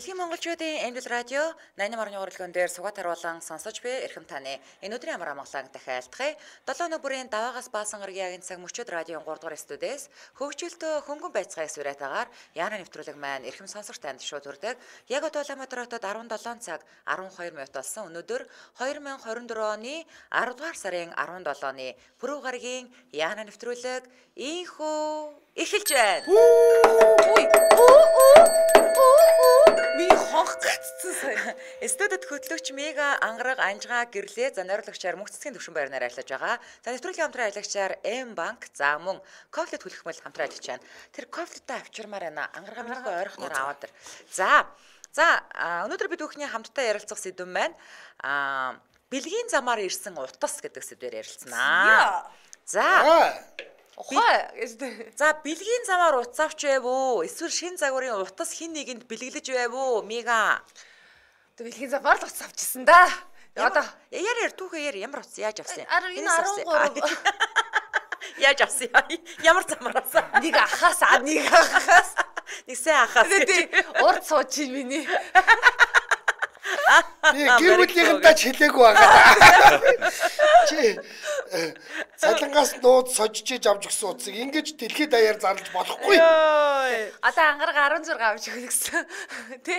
Дэлхийн монголчуудын Эмдэл радио 88.1 урлагийн дээр сугаад харуулан сонсож буй эрхэм таны энэ өдрийн амар амгалан дахиалтгая. 7 өнөө бүрийн даваагаас баасан гарагийн цаг мөчөд радион 3 дугаар студиэс хөгжөлтөө хөнгөн байцгааг сүрэтагаар яана нэвтрүүлэг маань эрхэм сонсогч танд шууд хүрдэг. Яг одоо Улаанбаатар хотод 17 цаг 12 минут болсон. Өнөөдөр 2024 оны 10 дугаар сарын 17-ны пүрэв гарагийн яана нэвтрүүлэг инхүү эхэлж байна. Миний хонх гацсан сайн. Студид хөтлөгч Мега ангараг анжгаа гэрлээ за найруулагчаар мөнх цэцгийн төвшин байрнаар ажиллаж байгаа. За нэвтрүүлгийн хамтран ажиллагчаар М банк за мөн кофлет хүлхмэл хамтран ажиллаж байна. Тэр кофлетаа авчирмаар байна. Ангараг минийхөө ойрхоноор аваад ир. За өнөөдөр бид бүхний хамтдаа ярилцах сэдв маань бэлгийн замаар ирсэн утас гэдэг сэдвээр ярилцсанаа. За бэлгийн замаар утас авч байв уу? Эсвэл шин загварын утас хин нэгэнд бэлгэлж байв уу? Мега. Бэлгийн замаар л утас авчихсан да. Одоо яар түүхээр ямар утас яаж авсан? Энэ 13 яаж авсан? Ямар замаар авсан? нэг ахаас. Нэг сайн ахаас. Урд сууж миний. Гэр бүлийнхэнтэй ч хэлээгүй байгаа. Чи цалингаас нууд сожиж авч өгсөн утсыг ингэж дэлхийд даяар зарлаж болохгүй. Одоо ангараг 16 авч өгнө гэсэн. Тэ?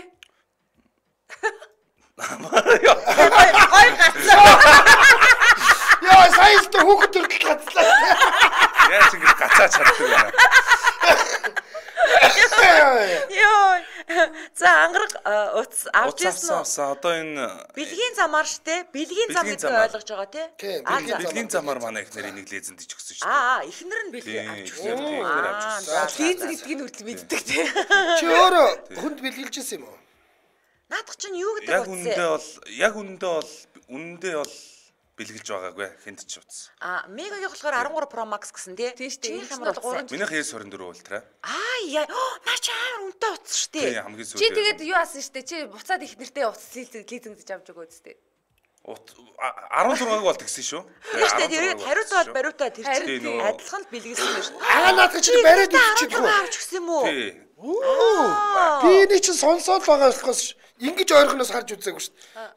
Гой гацсан. Яа, саяд хүүхэд төрөл гацлаа. Яаж ингэж гацаа чаддаг байна. Йоо. За ангараг утас авч ирсэн үү? Одоо энэ бэлгийн замаар штэ. Бэлгийн зам гэдэг ойлгож байгаа тий? бэлгийн замаар манай их нарийн нэг лезенд ич өгсөн шүү дээ. Эхнэр нь бэлгийн авч ихнэр өгсөн. авч өгсөн. Лиз гэдгийг нь хүртэл мэддэг тий. Чи өөрөө хүнд бэлгэлж ирсэн юм уу? Наадах чинь юу гэдэг утас? Яг үнэндээ бол бэлгэлж байгаагүй хэнд ч утас. Мегагийн болохоор 13 Pro Max гэсэн тий? Тийм шүү дээ. Чиний ямар утас? Минийх S24 ультра. Наа чи амар үнэтэй утас шүү Тийм дээ. хамгийн сүүлд. Чи тэгээд юу асан штэ? Чи буцаад их нэртэй утас лизингдэж авч өгөө үстэй. 16-г бол тэгсэн шүү. Тийм шүү дээ. Тэгээд хариуцаад бариутаа тэр чинь Тийм. адилхан л бэлгэлсэн байна шүү. Наадах чи бариад иччихгүй. Авч өгсөн юм уу? Тий. Би энийг чи сонсоод байгаа болохоос ингэж ойрхоноос харж үзээгүй шүү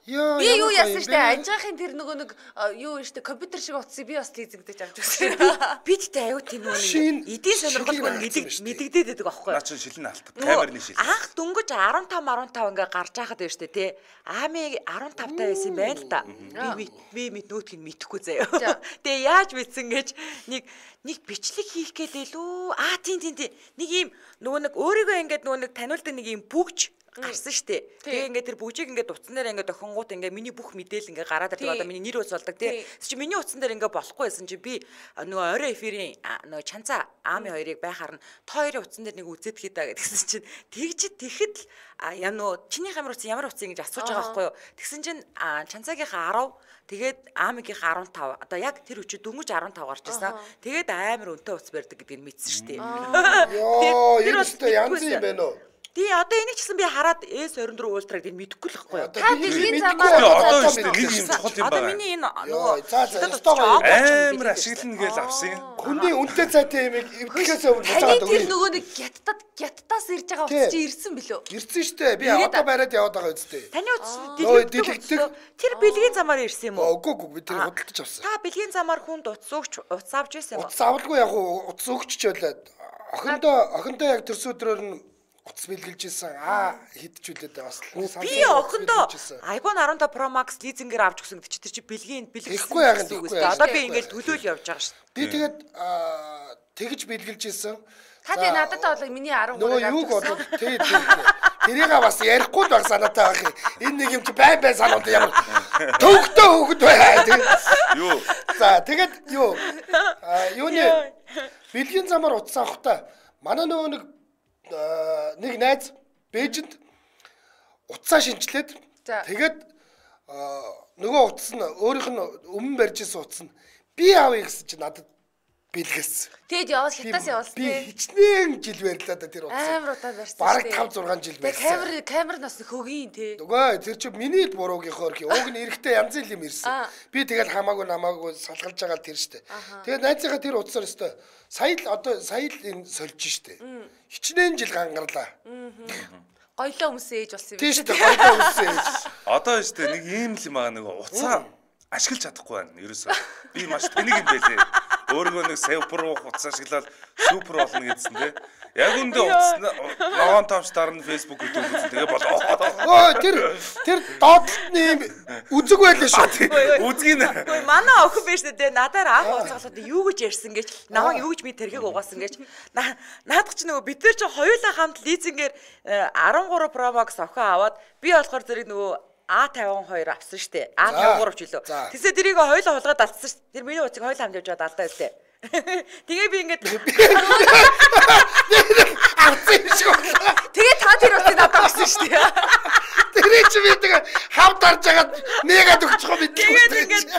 дээ. Би юу яасан штэ? Анжаахын тэр нөгөө нэг юу штэ компьютер шиг утсыг би бас лизингдэж авч өгсөн. Бидтэй аюу тийм үү? Эдийн сонирхолгүй мэдэгдээд байдаг аахгүй юу? Наа чи шилэн алт. Камерны шил. Анх дөнгөж 15 ингээ гарч байхад байна штэ тий. Ами 15 та байсан юм байна л да. Би нөтгийг мэдхгүй заяа. Тэгээ яаж мэдсэн гэж нэг бичлэг хийх гээл лүү. Тийм. Нэг ийм нөгөө нэг өөрийгөө ингээд нөгөө нэг таниулдаг нэг ийм бүгж гарсан штэ. Тэгээ ингээд тэр бүгжийг ингээд утсан дээр ингээд охингууд ингээд миний бүх мэдээлэл ингээд гараад ирдэг. Одоо миний нэр ус болдог тий. Чи миний утсан дээр ингээд болохгүй байсан чи би нөгөө орой эфирийн нөгөө чанцаа аами хоёрыг байхаар нь та хоёрын утсан дээр нэг үзээд хий даа гэдгсэн чинь тэгэхэд л нөө чиний хамар утсан ямар утсан гэж асууж байгаа байхгүй юу. Тэгсэн чинь чанцаагийнхаа 10 тэгээд аамигийнхаа 15 одоо яг тэр өчөө дөнгөж 15 гарч ирсэн. Тэгээд амар өнтөө утас барьдаг гэдгийг мэдсэн штэ. Энэ өстө янз юм байна уу? Тий одоо энийг ч гэсэн би хараад S24 ультра гэдгийг мэдэхгүй л байхгүй юу. Та бэлгийн замаар Одоо шүү дээ нэг юм чухал юм байна. Одоо миний энэ амар ашиглана гэж авсан. Хүний үнэтэй цайтай юм эвдлээс өмнө таны тэр нөгөө нэг гяттаас ирж байгаа утас чи ирсэн билүү? ирсэн штэ. Би одоо бариад яваад байгаа үстэй. Таны утас дэлгдэг. Тэр бэлгийн замаар ирсэн юм уу? Үгүй би тэр худалдаж авсан. Та бэлгийн замаар хүнд утас өгч утас авч ирсэн юм уу? Утас авалгүй яг утас өгч чөлөөд охиндоо яг тэрс өдрөөр нь утас бэлгэлж ирсэн. Хидчүүлээд бас. Би охиндоо iPhone 15 Pro Max лизингээр авч өгсөн гэдэг чи тэр чи бэлгийн Ихгүй яг л ихгүй. Одоо би ингээд төлөөл явж байгаа шүү. Би тэгээд тэгж бэлгэлж ирсэн. Та тий надад бол миний 13 нөгөө юуг бодоод тэрийг бас ярихгүй л баг санаатай байх юм. Энэ нэг юм чи бай санаад ямар төвхтөө хөөхд бай. Юу. За тэгээд юуны бэлгийн замаар утас авахта манай нөгөө нэг найз Бээжинд утсаа шинчлээд тэгээд нөгөө утас нь өөрийнх нь өмнө барьж ирсэн утас нь би авъя гэсэн чинь надад бэлгэлсэн. Тэгэд яваад хятаас явуулсан. Би хичнээн жил барьлаа да тэр утсыг. Амар удаа барьсан. Бараг 5 6 жил барьсан. Камер нас хөгийн тий. Нөгөө тэр чи миний буруугийнхоор уг нь эрэхтэй янз бүр юм ирсэн. Би тэгэл хамаагүй намаагүй салгалж байгаа тэр штэ. Тэгээд найзынхаа тэр утсаар өстой сая л энэ сольж штэ. Хичнээн жил гангарлаа. Гоёлоо өмсөн ээж болсон юм. Тийм шүү дээ. Гоёлоо өмсөн ээж. Одоо шүү дээ нэг ийм л юм аа нэг уцаа ашиглаж чадахгүй байна. Ерөөсөө би маш тэнэг юм байлээ. Өөргөө нэг супер уцаа ашиглаад супер болно гэдсэн те. Яг үндэ уцаа ногоон тавч дарна Facebook гэдэг үзэн тэгээ болоо. Өө тэр доотлолтны юм үзэг байлээ шүү. Үзгийн. Үгүй манай охин биш дээ. Надаар анх уцааглаад юу гэж ярьсан гэж намайг юу гэж би тэрхийг угаасан гэж наадах чи нөгөө бид нар чи хоёулаа хамт лизингээр 13 Pro Max охин аваад би болохоор зэрэг нөгөө A52 авсан штэ. A53 ч үлээ. Тэсээ тэрийг хоёулаа хулгаад алдсан штэ. Тэр миний уцыг хоёулаа хамт явж алдаа үлээ. Тэгээ би ингээд авсан юм шиг. Тэгээ та тэр уцыг надад өгсөн шүү дээ. Тэр чи би тэгээ хавд дарж агаад нэгэд өгчих юм бидлээ. тэгээд ингээд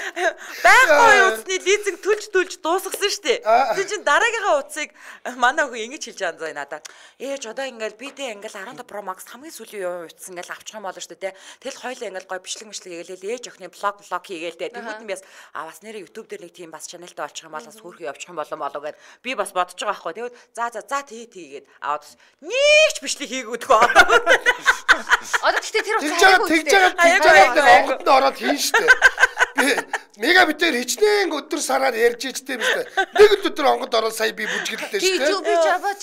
байхгүй уцны лизинг төлж дуусгасан шүү дээ. Тэр чин дараагийнхаа уцыг манай охин ингэж хэлж байгаа заа надад. Ээж одоо ингээд бидээ ингээд 15 Pro Max хамгийн сүүлийн юу уц ингээд авчих юм болно шүү дээ. Тэгэл хоёлаа ингээд гой бичлэг хийгээл ээж охины блог хийгээл дээ. Тэнгүүд нь бас бас нэрээ YouTube дээр нэг тийм бас чаналтай олчих юм бол бас хөөрхөн явчих юм болоо гэд би бас бодож байгаа байхгүй. Тэгвэл за тийгээд аваад нэг ч бичлэг хийгүүдгүй. Одоо гэхдээ тэр тэгж байгаа онгод ороод хийн штэ. Би мегабитээр хичнээн өдөр сараар ярьж ичтэй юм штэ. Нэг л өдөр онгод ороод сая би бүжгэлдээ штэ. би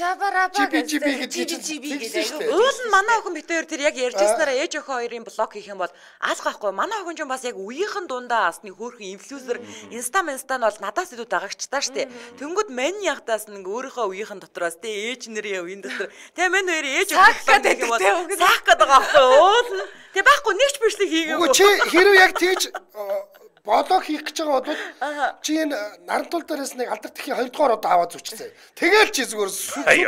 жабараа гэдэг. Уул нь манай охин битээр тэр яг ярьж яснараа ээж охин хоёрын блог хийх юм бол аль гахгүй манай охин ч бас яг үеийнхэн дундаа асны хөөрхөн инфлюенсер инста нь бол надаас илүү дагагчтай штэ. Тэнгүүд мань ягтаас нэг өөрийнхөө үеийнхэн дотроос тэ ээж нэрийн үеийн дотор тэ мань хоёр ээж охин гэх юм бол саах гэдэг байгаа байхгүй уул нь тэ байхгүй нэг ч бичлэг хийгээгүй. Чи хэрвээ яг тэгж блог хийх гэж байгаа бол чи энэ нарантуул дээрээс нэг алдар тхийн 2 дугаар удаа аваад зүчсэн. Тэгэл чи зүгээр супер.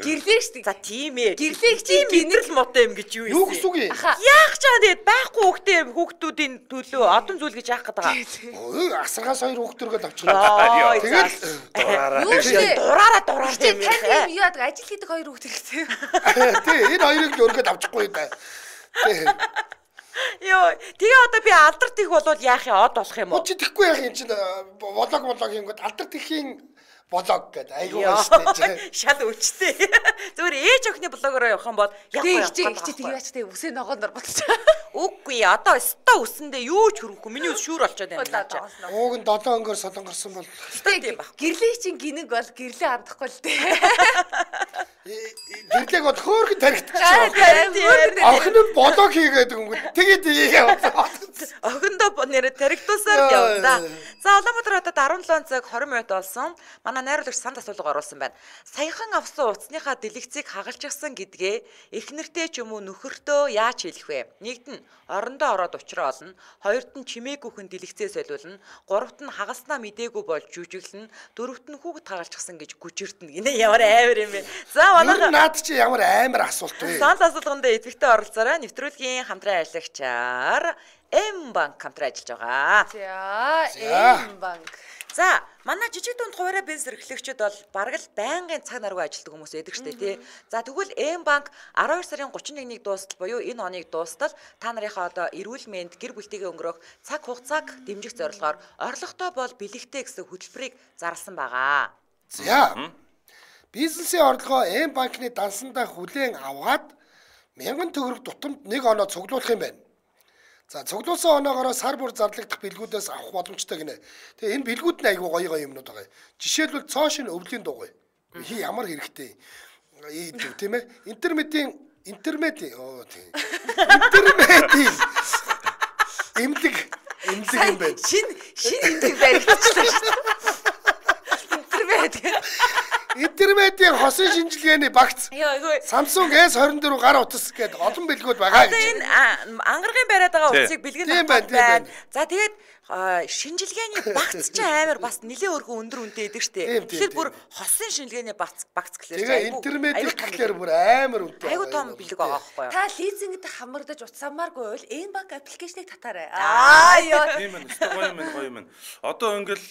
Гэрлээ шүү дээ. За тийм ээ. Гэрлээ чи гинэрл мотой юм гэж юу юм. Юу гэсэн үг юм? Яах ч аа тэгээд байхгүй хүүхдүүдийн төлөө одон зүйл гэж яах гэдэг байгаа. Асаргаас 2 хүүхдөргөл авчихлаа. Тэгэл дураараа тийм юм. Тань юу яадаг ажил хийдэг 2 хүүхд хэрэгтэй. Тий, энэ хоёрыг л өргөд авчихгүй даа. Йоо, тэгээ одоо би алдар тих болвол яах юм од болох юм уу? Чи тэхгүй яах юм чинь блог хийнгүүт алдар тхийн блог гэдэг айгуу штэ. Шал өвчтэй. Зүгээр ээж охины блогоор явах юм бол яг хичээ яач тэ үсээ ногоонор бодож. Үгүй одоо өстө үсэндээ юу ч хөрөхгүй. Миний үс шүүр болчиход байна. Ууг нь 7 өнгөөр солонгорсон бол гэрлээ чинь гинэг бол гэрлээ хандахгүй л дээ. гэрлээг бол хөөргөн таригдчихсан. Охин нь блог хийгээд өнгөт тэгээд яваа. Охиндоо нэрэ таригдуулсаар явна. За Улаанбаатар хотод 17 цаг 20 минут болсон. Манай найруулагч санд асуулга оруулсан байна. Саяхан авсан уцсныхаа дэлгэцийг хагалчихсан гэдгээ эхнэртэй ч юм уу нөхөртөө яаж хэлэх вэ? Нэгд нь орондоо ороод учраа олно, хоёрт нь чимээгүйхэн дэлгэцээ солиулна, гуравт нь хагалснаа мдээгүй болж жүжиглэн, дөрөвт нь хүүхэд хагалчихсан гэж гүжирдэнэ. Гинэ ямар амар юм бэ? За манай наад чи ямар амар асуулт вэ? Санд асуулганд идэвхтэй оролцоорой. Нэвтрүүлгийн хамтран ажиллагчаар М банк хамтран ажиллаж байгаа. За М банк. За манай жижиг дунд хуваарай бизнес эрхлэгчид бол бараг л байнгын цаг наргүй ажилладаг хүмүүс байдаг штэ тий. За тэгвэл М банк 12 сарын 31-ний дуустал буюу энэ оныг дуустал та нарынхаа одоо эрүүл мэнд гэр бүлтэйгээ өнгөрөх цаг хугацааг дэмжих зорилгоор орлоготой бол бэлэгтэй гэсэн хөтөлбөрийг зарласан байгаа. За бизнесийн орлогоо М банкны дансандаа хүлээн аваад 1000 төгрөг тутамд 1 оноо цуглуулах юм байна. За цуглуулсан оноогоор сар бүр зарлагдах бэлгүүдээс авах боломжтой гинэ. Тэгээ энэ бэлгүүд нь айгүй гоё юмнууд байгаа. Жишээлбэл цоошин өвлийн дугуй. Ямар хэрэгтэй. Тийм ээ. Интермедийн эмнэлэг юм байна. Шин эмнэлэг баригдчихлаа шүү дээ. Интермедийн хосын шинжилгээний багц. Samsung S24 гар утас гэдэг олон бэлгүүд байгаа гэж. Энэ ангаргийн бариад байгаа утсыг бэлгэн байна. За тэгээд шинжилгээний багц ч амар бас нэлээд өргөн өндөр үнэтэй идэг штэ. Тэгэхээр бүр хосын шинжилгээний багц гэхлээр тэгээ интермедийн гэхлээр бүр амар үнэтэй. Айгуу том бэлэг байгаа байхгүй юу? Та лизингд хамрагдаж утсаамааргүй бол энэ банк аппликейшнийг татаарай. Ёо. Тийм ээ, гоё юм. Одоо ингээл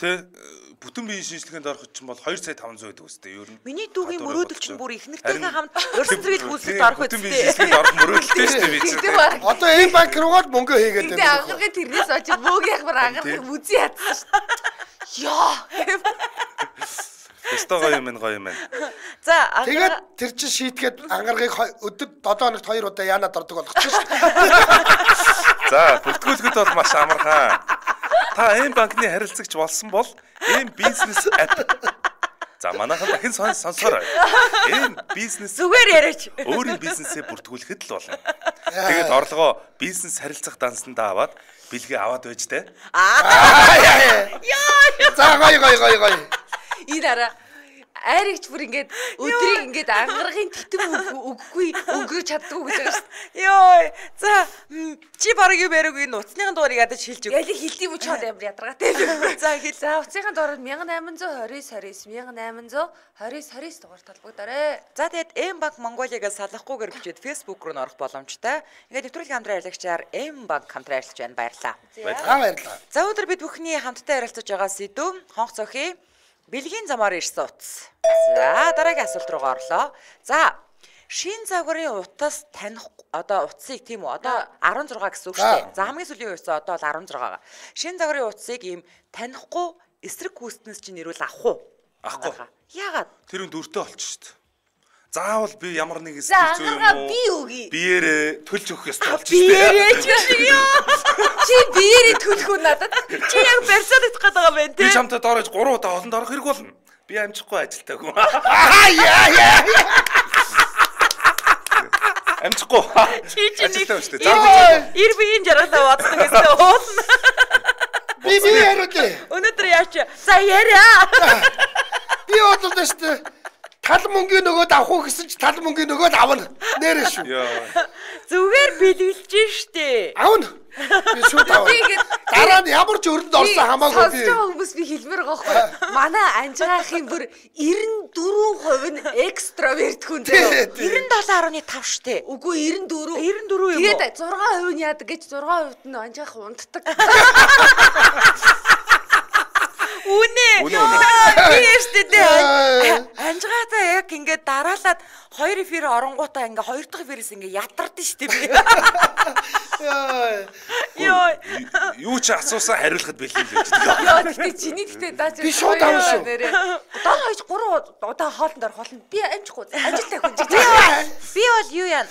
тэ бүтэн биеийн шинжилгээнд орох чинь бол 2 сая 500 байдаг үстэй ер нь. Миний дүүгийн мөрөөдөл чинь бүр ихнэртэйгээ хамт өрсөлдөрөл гүйцэлд орох үстэй. Бүтэн биеийн шинжилгээнд орох мөрөөдөлтэй шүү дээ би чинь. Одоо энэ банк руугаад мөнгө хийгээд байна. Тэгээ ангаргийн тэрнээс очиж бөөг ягмар ангарах үзий ядсан шүү. Яа. Өстой гоё юм байна. За тэгээд тэр чинь шийтгээд ангаргийг өдөрт 7 хоногт 2 удаа яанаад ордог болгочих шүү. За бүртгүүлэхэд бол маш амархан. Та M банкны харилцагч болсон бол M бизнес app. За манайхан дахин сонсоорой. M бизнес зүгээр яриач. Өөрийн бизнесээ бүртгүүлэхэд л болно. Тэгээд орлогоо бизнес харилцах дансандаа аваад бэлгээ аваад байж тээ. За гоё. Энэ араа айрагч бүр ингээд өдрийг ингээд ангаргийн титэм өгөхгүй өнгөрөөж чаддгүй гэж байгаа шүү. Йой. За чи бараг юу бариагүй нуцныхын дуурыг ядаж хэлж өг. Ялиг хилдэм үчи хол амар ядаргатай. За хэл. За уцынхаа дуурыг 1829 1829 дугаар толбогдорой. За тэгээд M банк Монголиагаас салахгүйгээр бичээд Facebook руу орох боломжтой. Ингээд нэвтрүүлгийн хамтран ярилцагчаар M банк хамтран ярилцж байна. Баярлалаа. Баярлалаа. За өдөр бид бүхний хамтдаа ярилцаж байгаа сэдв хонх цохи бэлгийн замаар ирсэн утас. За дараагийн асуулт руугаа орлоо. За шин загварын утас таних одоо утсыг тийм үү одоо 16 гэсэн үг шүү дээ. За хамгийн сүүлийн үеэс одоо л 16 байгаа. Шин загварын утсыг ийм танихгүй эсрэг гүйцэтнээс чинь нэрвэл авах уу? Ахгүй. Яагаад? Тэр үнд өртөө болчих шүү дээ. Заавал би ямар нэг За зүйл ангараа би өгье. биеэрээ төлж өгөх ёстой болчих шүү дээ. Биеэрээ ч шиг ёо. Чи биеэрээ төлөх үү надад? Чи яг барьсаад идэх гээд байгаа байх Би тийм. чамтай доорож 3 удаа олонд орох хэрэг болно. Би амжихгүй ажилтаа хүн. Амжихгүй. Чи нэг Ажилтаа шүү дээ. ир биеийн жаргалаа бодсон гэсэн уулна. Би яриулъя. Өнөөдөр яач? За яриа. Би бодлоо шүү дээ. Тал мөнгөний нөгөөд авах уу гэсэн чи тал мөнгөний нөгөөд авна. Нэрэ шүү. Зүгээр бэлгэлж штэ. Авна. Би шууд авна. Дараа нь ямар ч өрөнд орсон хамаагүй би. Сонсож байгаа хүмүүс би хэлмээр байгаа хгүй. Манай анжгаахын бүр 94% нь экстраверт хүн зөө. 97.5 штэ. Үгүй 94. 94 юм уу? Тэгээд 6% нь яадаг гэж 6% нь анжгаах унтдаг. Үнэ. Би ястэ анжгаатай яг ингээд дараалаад 2 эфир оронгуудаа ингээ 2 дахь эфирээс ингээ ятардсан штэ би. Йоо. Юу ч асуусан хариулахад бэлэн л байж. Яа гэхдээ чиний гэхдээ даа чи. Би шууд авна шүү. Одоо хойч 3 удаа хоолнд орох болно. Би амжихгүй ажилтай хүн чи. Би бол юу яа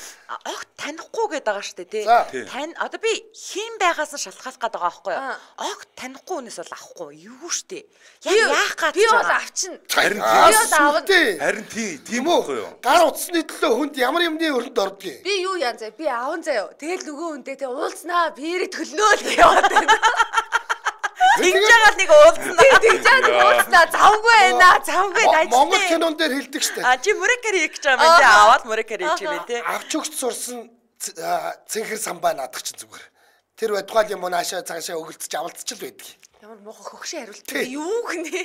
огт танихгүй гээд байгаа штэ тий. Тань одоо би хэн байгаас нь шалтгаалах гээд байгаа байхгүй юу? Огт танихгүй хүнээс бол авахгүй юу штэ. Яах гэж би бол авчин. Харин тийм үү? үү? Гар утасны төлөө хүнд ямар юмны өрөнд ордгийг. Би юу яан заа би аавн заяа. Тэгэл нөгөө хүнтэй тэ уулзнаа биэрэ төлнөө л яваад байна. Тэгж байгаа нэг уулзнаа. Тэгж байгаа уулзнаа завгүй байна. Завгүй дайч. Монгол кинон дээр хэлдэг штэ. Чи мөрөкөр хийх гэж байгаа юм тий. Аваад мөрөкөр хийж юм тий. Авч өгч сурсан цэнхэр самбай наадах чинь зүгээр. Тэр байтугай юм наашаа цаашаа өгөлцөж авалцчих л байдаг. Ямар муухай хөгшин хариулт. Юу гэнэ?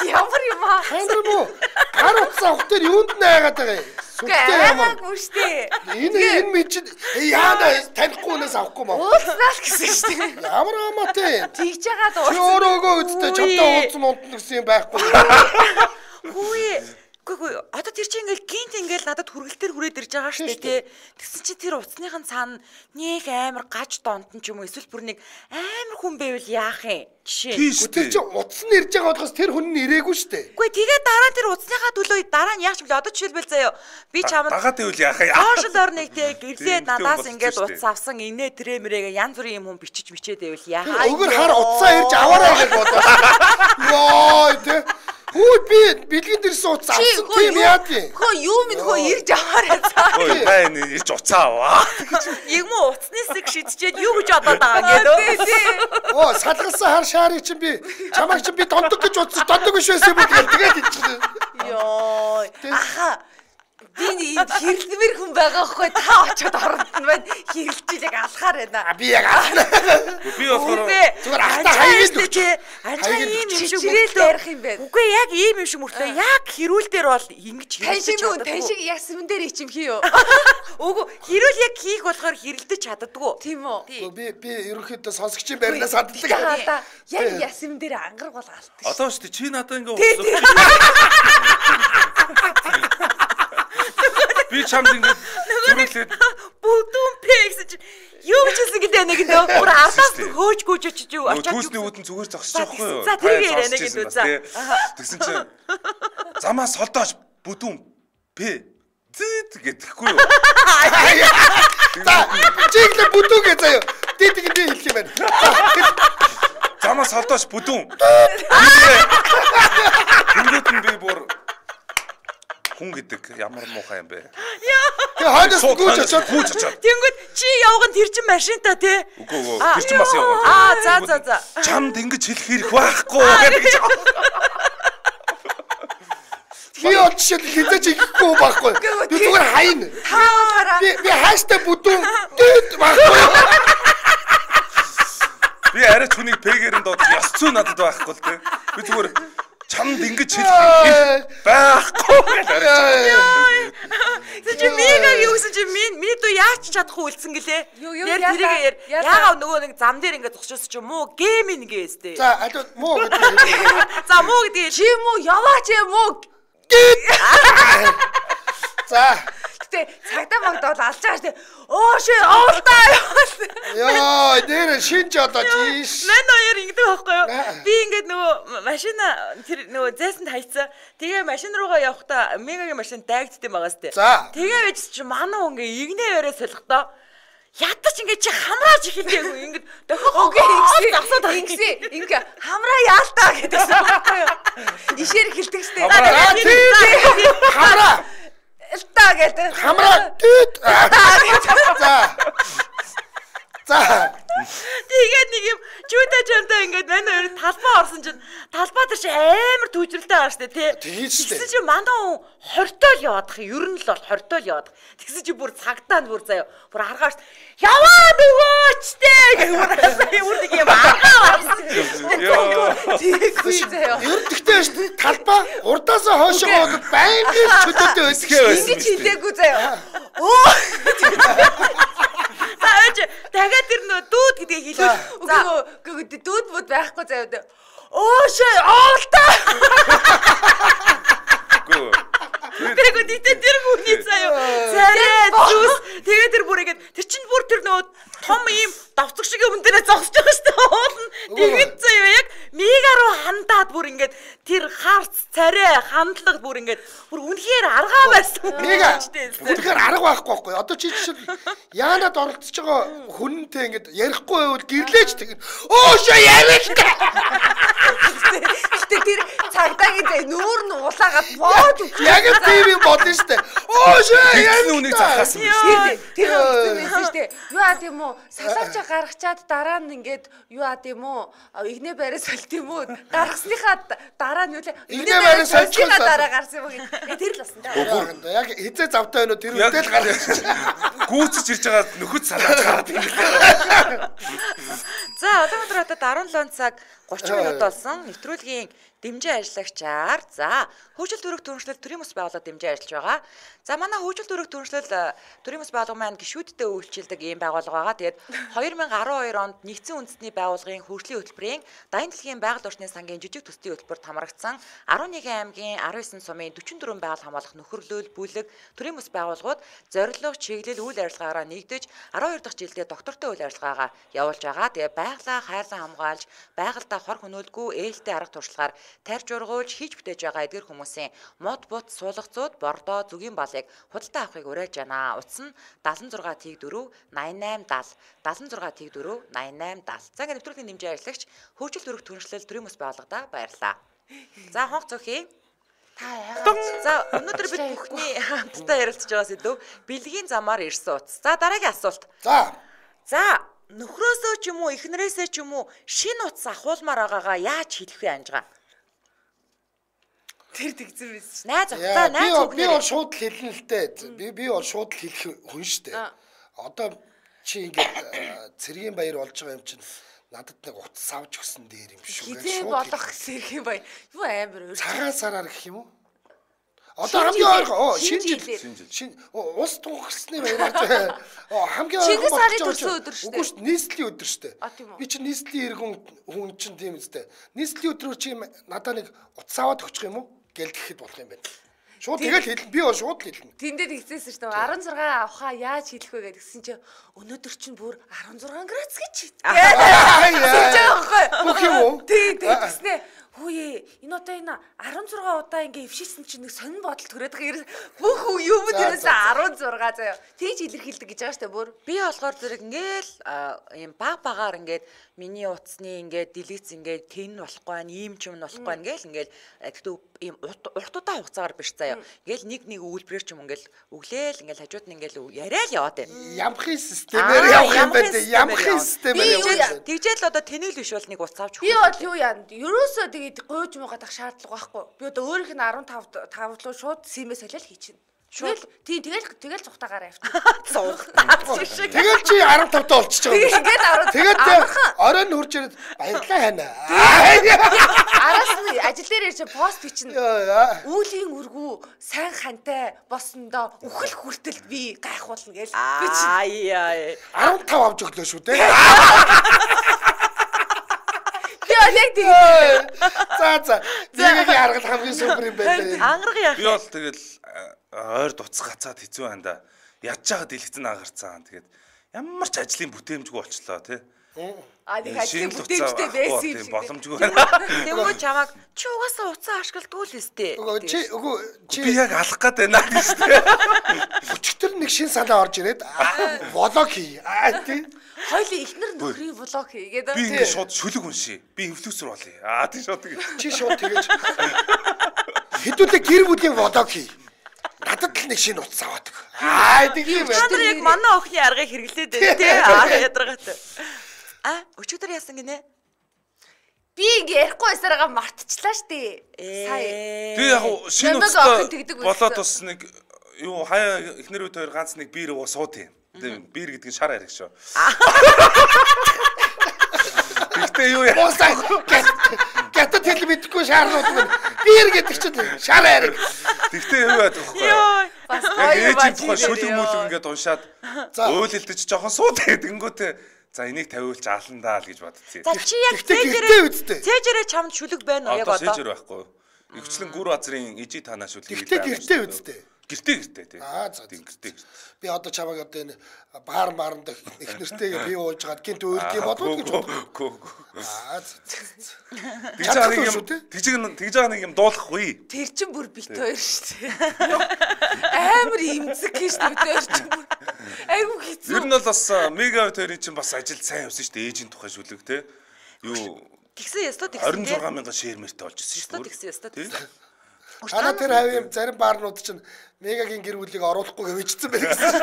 Ямар юм аа? Хандрам уу? Гар утас авах дээр юунд найгаад байгаа юм? Сүлтэй ямар? Гүштэй. Энэ мэд яана танихгүй хүнээс авахгүй маа. Уулзнаа л гэсэн шүү дээ. Ямар амаатай. Тэгж байгаа Чи өөрөөгөө үсттэй чамтай уулзсан унтна гэсэн юм байхгүй. Үгүй одоо тэр чинь ингээл гинт ингээл надад хүргэлтээр хүрээд ирж байгаа шүү дээ тий. Тэгсэн чи тэр утасныхан цаана нэг амар гаж донтон ч юм уу эсвэл бүр нэг амар хүн байвал яах юм? Жишээ. Тэр чинь утас нь ирж байгаа болохоос тэр хүн нь ирээгүй шүү дээ. Үгүй тэгээ дараа тэр утасныхаа төлөө дараа нь яах юм бэ? Одоо жишээлбэл заяа би чамд дагаад ивэл яах юм? Сошиал орныг тий гэрлээд надаас ингээд утас авсан инээ трэмрэгээ янз бүрийн юм бичиж мичээд байвал яах? Өгөр хар утасаа ирж аваарай гэж бодлоо. Йоо тий. Хүү би бэлгийн дэрсэн утас авсан тийм яад юм. Хөө юу минь хөө ирж аваарай цаа. Ой байн ирж уцаа аваа. Яг муу утасны хэсэг шидчихэд юу гэж бодоод байгаа гэдэг. Оо салгалсан хар шаарыг чинь би чамайг чинь би дондог гэж утас дондог биш байсан юм уу тэгээд хэлчихлээ. Йоо. Аха. Би энэ хэрэлмэр хүн байгаа хгүй та очиод оронд нь байна. Хэрэлжил яг алхаар байна. Би яг алхана. Би болохоор зүгээр ахта хаяг л тий. Анчаа ийм юм шиг мөртөө ярих юм байна. Үгүй яг ийм юм шиг мөртөө яг хэрүүл дээр бол ингэж хэрэлдэж чаддаг. Тань шиг яг сүмэн дээр ичим хийё. Үгүй хэрүүл яг хийх болохоор хэрэлдэж чаддаггүй. Тийм үү? Би ерөнхийдөө сонсогчийн байрнаас хаддаг. Яг ясмэн дээр ангар бол алт. Одоо шүү дээ чи надад ингээ Би чамд ингэ зүрхлээд бүдүүн пэ гэсэн чи юу гэж хэлсэн гэдэг нэг нөө бүр ардаас хөөж очиж юу очиж. Түүсний үүдэн зүгээр зогсож байгаа байхгүй юу? За тэрийг яриа нэг гэдэг за. Тэгсэн чинь замаа солдооч бүдүүн П зэт гэдэггүй юу? За чиглэ бүдүүгээ заяа. Дээд хэлэх юм байна. Замаа солдооч бүдүүн. Тэнгүүд нь би бүр хүн гэдэг ямар муухай юм бэ? Тэгээ хойноос гүйж очоод. Тэнгүүд чи явган тэр чин машинтаа тий. Үгүй тэр чин бас явган. За. Чамд ингэж хэлэх хэрэг байхгүй гэж. Би очиж хизэж ихгүй байхгүй. Би зүгээр хайна. Би хааштай бүдүүн байхгүй. Би арай ч хүнийг пэгээр нь доод ёс зүй надад байхгүй л тий. Би зүгээр чамд ингэж хэлэх байхгүй гэж арай. Чи мигагийн үсэн чи миний дуу яач чадахгүй үлдсэн гэлээ. Тэр яагаад нөгөө нэг зам дээр ингээд зогсчихсон чи муу гейм нэгээстэй. За аль муу гэдэг. За муу гэдэг чи муу яваач муу. За Гэтэ цагдаа магдаад алж байгаа штэ. Оо ши оолтаа. Яа, нэр шинж одоо тийш. Мэн хоёр ингэдэг байхгүй юу? Би ингээд нөгөө машина тэр нөгөө зайсанд хайцсан. Тэгээ машин руугаа явахдаа мегагийн машин дайгдсан байгаа сте. Тэгээ байж чи манай хүн ингээ игнээ өрөө солихдоо ядаж ингээд чи хамрааж ихэлгээгүй ингээд дохоо ингээ хамраа яалтаа гэдэгсэн байхгүй юу? Ишээр хэлдэг штэ. Хамраа Элтаа гэдэг. Хамраа тит. За. Тэгээд нэг юм чүдэ чамтай ингээд манай хоёр талбай орсон чинь талбай дээр чи амар түүжрэлтэй байгаа штэ тий. Тэгсэн чи манай хүн хортой л яваадах юм. Ер нь л бол хортой л яваадах. Тэгсэн чи бүр цагтаанд бүр заяа. Бүр аргааш яваад өгөөч тий гэх бүр нэг юм аргаа орсон. Тэггүй заяа. Ер нь тэгтэй штэ талбай урдаасаа хоошоо байнгын чөдөдөө өсгөө. Ингэж хэлээгүй заяа. Дахиад тэр нөө дүүд гэдгийг хэлээ. Үгүй дүүд бод байхгүй заяа. Өөшөө оолтаа. Тэргүй дитэ тэр хүний заяа. Царай зүс. Тэгээд тэр бүр ингэж тэр чинь бүр тэр нөө том ийм давцаг шиг юм дээрээ зогсож байгаа шүү дээ. Уулна. Тэгээд заяа яг мега руу хандаад бүр ингэж тэр харц царай хандлага бүр ингэж бүр үнэхээр аргаа байсан. Мега. Үнэхээр арга байхгүй. Одоо чи жишээл яанад оролцож байгаа хүнтэй ингэж ярихгүй байвал гэрлээч тэгээд өөшөө яриа л та. Гэтэ тэр цагдаагийн нүүр нь улаагаад боод үгүй. Яг тийм бодно штэ. Өөшөө яриа нүунийг захаасан биш. Тэр байсан штэ. Юу аа тийм үү? Салаавч гаргачаад дараа нь ингээд юу аа тийм үү? Игнэ бариас солт юм уу? Гаргасныхаа дараа нь юу лээ? Игнэ бариас солихоо дараа гарсан юм уу? Тэр л басан да. Яг хизээ завтай байна уу? Тэр үедээ л гаргаж. Гүүцэж ирж байгаа нөхөд салаад гараад юм. За одоо 17 цаг 30 минут болсон. Нэвтрүүлгийн дэмжин ажиллагчаар за хөгжил төрөх түншлэл төрийн бас байгууллага дэмжин ажиллаж байгаа. За манай хөгжил төрөх түншлэл төрийн бас байгууллага маань гишүүдтэй үйлчилдэг ийм байгууллага байгаа. Тэгээд 2012 онд нэгдсэн үндэсний байгууллагын хөгжлийн хөтөлбөрийн Дайны дэлхийн байгаль орчны сангийн жижиг төслийн хөтөлбөрт хамрагдсан 11 аймгийн 19 сумын 44 байгаль хамгаалах нөхөрлөл бүлэг төрийн бас байгууллагууд зорилго, чиглэл, үйл ажиллагаараа нэгдэж 12 дахь жилдээ доктортой үйл ажиллагаагаа явуулж байгаа. Тэгээд байгалаа хайрлан хамгаалж, байгальдаа хор хөнөөлгүй ээлтэй арга туршлагаар тарж ургуулж хийж бүтээж байгаа эдгэр хүмүүсийн мод бут суулгацууд бордоо зүгийн балыг худалдаа авахыг уриалж байна. Утас нь 76 Т4 8870 76 Т4 8870. За ингээд нэвтрүүлгийн дэмжин ажиллагч хөгжил төрөх түншлэл төрийн бас байгууллагада баярлалаа. За хонх цохий. За өнөөдөр бид бүхний хамтдаа ярилцж байгаа сэдв бэлгийн замаар ирсэн утас. За дараагийн асуулт. За нөхрөөсөө ч юм уу эхнэрээсээ ч юм уу шинэ утас ахуулмаар байгаагаа яаж хэлэх вэ анжгаа? Тэр тэгзэр байсан. Найз ухтаа найз үг. Би бол шууд хэлнэ л дээ. Би бол шууд хэлэх хүн шүү дээ. Одоо чи ингээд цэргийн баяр болж байгаа юм чинь надад нэг утас авч өгсөн дээр юм шүү. Хизээ болох цэргийн баяр. Юу амар өөр. Цагаан сараар гэх юм уу? Одоо хамгийн ойрхон шинэ ус тунхсны баяраар хамгийн ойрхон сарын төрсөн өдөр шүү дээ. Үгүй шүү нийслэлийн өдөр шүү дээ. Би чи нийслэлийн иргэн хүн чинь тийм үстэй. Нийслэлийн өдрөөр чи надад нэг утас аваад өгчих юм уу? Гэлдэхэд болох юм байна. Шууд тэгэл хэлнэ. Би бол шууд хэлнэ. Тэндээ тэгсээсэн шүү дээ. 16 авахаа яаж хэлэх вэ гэдгсэн чинь өнөөдөр чинь бүр 16 градус гэж. Бүх юм уу? Тий, тэгснэ. Хөөе, энэ одоо энэ 16 удаа ингээ өвшилсэн чинь нэг сонин бодол төрөөд байгаа. Бүх юм дээрээс 16 заяа. Тэгж илэрхийлдэг гэж байгаа шүү дээ бүр. Би болохоор зэрэг ингээл ийм багаар ингээд миний утасны ингээд делиц ингээд тэн болохгүй байна, ийм ч юм болохгүй байна ингээл гэхдээ ийм урт удаан хугацаагаар биш заяа. Ингээл нэг үйлбэрээр ч юм ингээл өглөөл ингээл хажууд нь ингээл яриа л яваад байна. Ямхын системээр явах юм байна. Ямхын системээр явах. Тэгжээл одоо тэнэл биш бол нэг утас авч би бол юу яа. Ерөөсөө тэгээд гойж муугаад ах шаардлага байхгүй. Би одоо өөрийнх нь 15 руу шууд симээ солиод хийчихнэ. Шууд тэгэл цухтаагаараа явчих. Цухтаа шиг. Тэгэл чи 15 таа болчихж байгаа юм. Тэгээд оройн хурж ирээд баярлаа хана. Араас нь ажил дээр ирж пост бичнэ. Үүлийн үргүү сайн хантай болсондоо үхэл хүртэл би гайхуулна гэж бичнэ. 15 авч өглөө шүү дээ. За. Зэгийн харгал хамгийн супер юм байна. Ангараг яах. Би бол тэгэл ойр дуцах гацаад хэцүү байна да. Ядж байгаа дэлгэцэн агарцсан. Тэгээд ямар ч ажлын бүтээмжгүй болчлоо тий. Нэг ажлын бүтээмжтэй байсан юм шиг. Боломжгүй байна. Тэгмээ чамаг чи угаасаа уцаа ашигладгүй л өстэй. Чи би яг алах гээд байна гэж тий. Өчигдөр нэг шин санаа орж ирээд влог хий. Тий. Хоёлын ихнэр нөхрийн влог хийгээд би ингэ шууд шүлэг уншия. Би инфлюенсер болъё. Тий шууд тэгэж. Чи шууд тэгэж. Хэдүүлээ гэр бүлийн влог хий. Надад л нэг шинэ утас аваад өг. Тэг юм байна. Та нар яг манай охины аргыг хэрэглээд байна тий. Ядаргатай. Өчигдөр яасан гинэ? Би ингэ ярихгүй байсараа мартчихлаа штэ. Сая. Би яг шинэ утас болоод бас нэг юу хаяа ихнэр үт хоёр ганц нэг биер уу сууд юм. Биер гэдэг нь шар ариг шүү. Гэхдээ юу яасан? Гятад хэл мэдэхгүй шаарнууд мэн. Биер гэдэг чинь шар ариг. Тэгтээ юу яадаг вэ? Бас гоё байж тухай шүлэг мүлэг ингээд уншаад өөлөлдөж жоохон сууд тэгэнгүүтээ за энийг тавиулж ааландаа л гэж бодчихъя. За чи яг цээжэрээ чамд шүлэг байна уу яг одоо? Цээжэр байхгүй. Игчлэн гүр базрын ижи танаа шүлэг. Гэтэ гэртээ үсттэй. Гэртээ тий. За гэртээ. Би одоо чамайг одоо энэ баарнд их нэртэйгээ би ууж гад гинт өөрд юм бодвол гэж бодлоо. Тэгж байгаа нэг юм дуулахгүй. Тэр чин бүр бит хоёр шүү дээ. Амар имзэг гэж бид хоёр чин бүр. Айгу хэцүү. Ер нь бол бас мега хоёрын чин бас ажил сайн явсан шүү дээ. Ээжийн тухай шүлэг те. Юу тэгсэн ястаа тэгсэн. 26,000 шеэрмэртэй болж ирсэн шүү дээ. Тэгсэн ястаа. Ана тэр хавийн зарим баарнууд чинь мегагийн гэр бүлийг оруулахгүй гэвчихсэн байх гэсэн.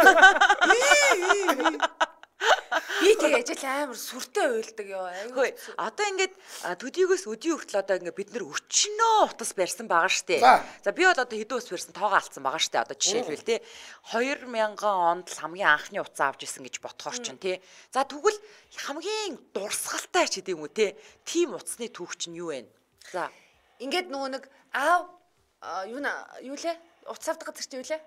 Би тэг ажил амар сүртэй уйлдаг ёо. Хөөе. Одоо ингээд төдийгөөс өдий хүртэл одоо ингээд бид нэр өчнөө утас барьсан байгаа штэ. За би бол одоо хэдэн ус барьсан тоогоо алдсан байгаа штэ. Одоо жишээлбэл те 2000 онд л хамгийн анхны утас авч исэн гэж бодохоор чинь те. За тэгвэл хамгийн дурсгалтай ч гэдэм үү те. Тим утасны түүх чинь юу вэ? За ингээд нөгөө нэг аав юу лээ? Утас авдаг газар чи юу лээ?